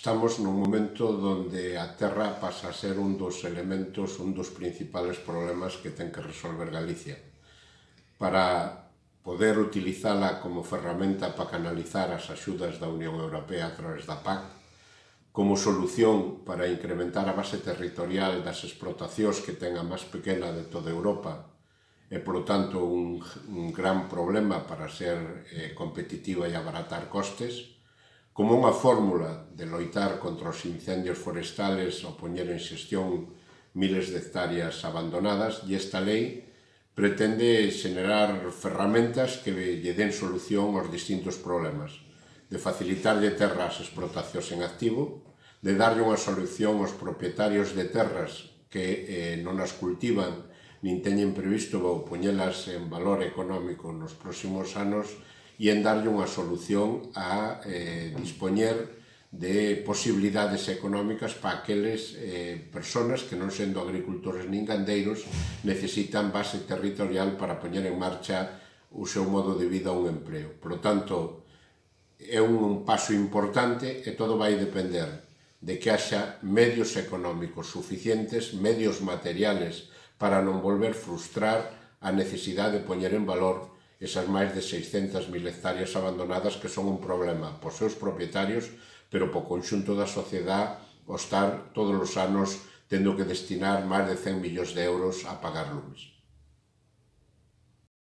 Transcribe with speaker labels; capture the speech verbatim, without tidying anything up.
Speaker 1: Estamos nun momento onde a terra pasa a ser un dos elementos, un dos principales problemas que ten que resolver Galicia. Para poder utilizala como ferramenta para canalizar as axudas da Unión Europea a través da P A C, como solución para incrementar a base territorial das explotacións que ten a máis pequena de toda Europa e, por tanto, un, un gran problema para ser eh, competitiva e abaratar costes, como unha fórmula de loitar contra os incendios forestales ou poñer en xestión miles de hectáreas abandonadas, e esta lei pretende xenerar ferramentas que lle den solución aos distintos problemas, de facilitarlle terra ás explotacións en activo, de darlle unha solución aos propietarios de terras que eh, non as cultivan nin teñen previsto poñelas en valor económico nos próximos anos, e en darlle unha solución a eh, dispoñer de posibilidades económicas para aqueles eh, personas que, non sendo agricultores nin gandeiros, necesitan base territorial para poñer en marcha o seu modo de vida ou un empleo. Por lo tanto, é un paso importante e todo vai depender de que haxa medios económicos suficientes, medios materiales, para non volver frustrar a necesidade de poñer en valor esas máis de seiscentas mil hectáreas abandonadas que son un problema pos seus propietarios, pero po conxunto da sociedade ao estar todos os anos tendo que destinar máis de cen millóns de euros a pagar lumes.